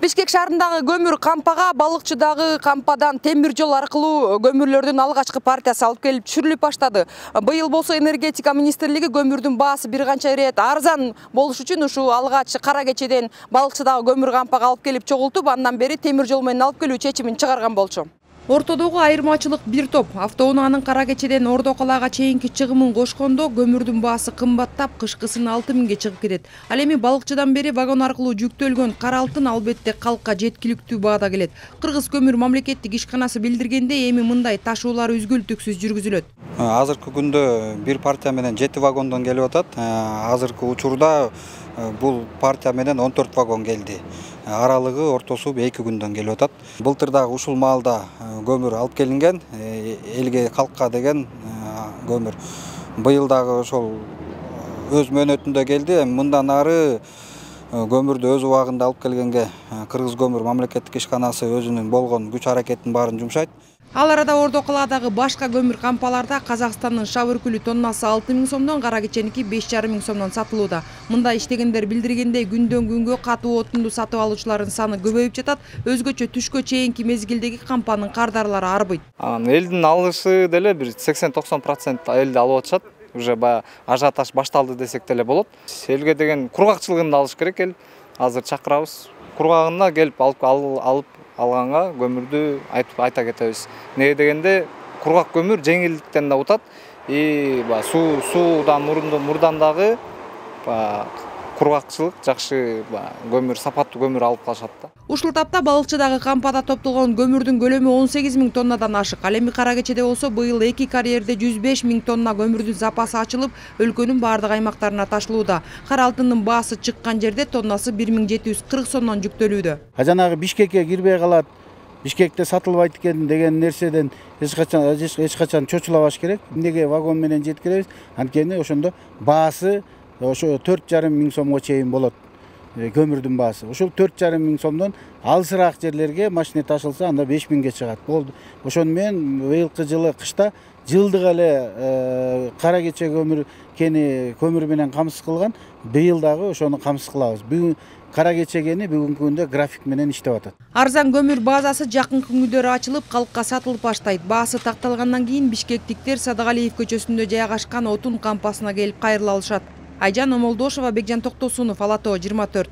Бишкек шаарындагы көмүр кампага балыкчыдагы кампадан темир жол аркылуу көмүрлөрдүн алгачкы партиясы алып келип түшүрүлүп баштады. Быйыл болсо энергетика министрлиги көмүрдүн баасы бир канча ирет арзан болуш үчүн ушул алгач кара кечеден балыкчыдагы көмүр кампага алып келип чогултуп, андан бери темир жол менен алып келүү чечимин чыгарган болчу. Ортодогу айырмачылык бир топ. Автоунаанын кара кечеден Ордо калаага чейинки чыгымын кошкондо көмүрдүн баасы кымбаттап, кышкысын 6000 чыгып кетет. Ал эми балыкчыдан бери вагон аркылуу жүктөлгөн кара алтын албетте калкка жеткиликтүү баада келет. Кыргыз көмүр мамлекеттик ишканасы билдиргендей, эми мындай ташуулар үзгүлтүксүз жүргүзүлөт. Азыркы күндө бир партия менен 7 вагондон келип атат. Азыркы учурда бул партия менен 14 вагон келди. Аралыгы ортосу 2 күндөн келип атат. Былтыр дагы ушул маалда көмүр алып келинген, элге калкка деген көмүр. Быйыл дагы ошол өз мөөнөтүндө келди. Мындан ары көмүрдү өз убагында алып келгенге Кыргыз көмүр мамлекеттик ишканасы өзүнүн болгон күч аракетин баарын жумшайт. Ал арада Ордо калаадагы башка көмүр кампаларда Казакстандын шап үркүлү тоннасы 6000 сомдон, кара кеченики 5500 сомдон сатылууда. Мында иштегендер билдиргендей, күндөн күнгө катуу отунду сатып алуучулардын саны көбөйүп жатат. Өзгөчө түшкө чейинки мезгилдеги кампанын кардарлары арбыйт. Элдин алышы деле бир 80-90% элди алып атышат. Уже баягы ажиотаж башталды десек деле болот. Элге деген кургакчылыгын да алыш керек эл. Азыр чакырабыз. Кургагына келип алып алганга көмүрдү айта кетебиз. Неге дегенде кургак көмүр жеңилдиктен да утат. Суудан мурдан дагы кургакчылык жакшы көмүр, сапаттуу көмүр алып калышат да. Ушул тапта балыкчыдагы кампада топтолгон көмүрдүн көлөмү 18000 тоннадан ашык. Ал эми кара кечеде болсо быйыл 2 карьерде 15000 тонна көмүрдүн запасы ачылып, өлкөнүн бардык аймактарына ташылууда. Кара алтындын баасы чыккан жерде тоннасы 1740 сомдон жүктөлүүдө. Жанагы Бишкекке кирбей калат, Бишкекте сатылбайт экен деген нерседен эч качан чочулабаш керек. Эмнеге вагон менен жеткиребиз? Анткени ошондо баасы ошо 4500 сомго чейин болот. Көмүрдүн баасы. Ушул 4500 сомдон алысыраак жерлерге машина ташылса, анда 5000ге чыгат. Болду. Ошону менен быйылкы жылы кышта жылдык эле кара кече көмүр менен камсыз кылган, быйыл дагы ошону камсыз кылабыз. Бүгүн кара кече кени бүгүнкү күндө график менен иштеп атат. Арзан көмүр базасы жакынкы күндөрү ачылып, калкка сатылып баштайт. Баасы такталгандан кийин бишкектиктер Садыгалиев көчөсүндө жайгашкан отун кампасына келип кайрыла алышат. Айжан Омолдошова, Бекжан Токтосунов, Ала Тоо 24.